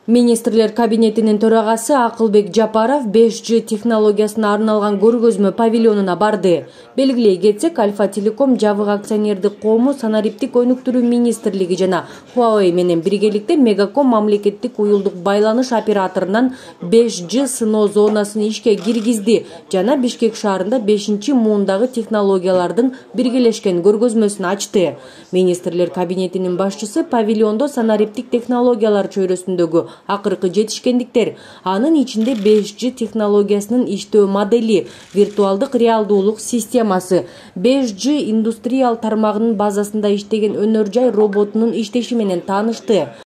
Министрлер кабинетинин төрагасы Акылбек Жапаров 5G технологиясына арналган көргөзмө павильонуна барды. Белгилей кетсек, Альфа Телеком жабык акционердик коому, санариптик өнүктүрүү министрлиги жана Huawei менен биргеликте Мегаком мамлекеттик уюлдук байланыш операторунан 5G сыноо зонасын ишке киргизди жана Бишкек шаарында 5-муундагы технологиялардын биргелешкен көргөзмөсүн ачты. Министрлер кабинетинин башчысы павильондо санариптик технологиялар чөйрөсүндөгү акыркы жетишкендиктер, анын ичинде 5G технологиясынын иштөө модели, виртуалдык реалдуулук системасы, 5G индустриал тармагынын базасында иштеген өнөр жай роботунун иштеши менен таанышты.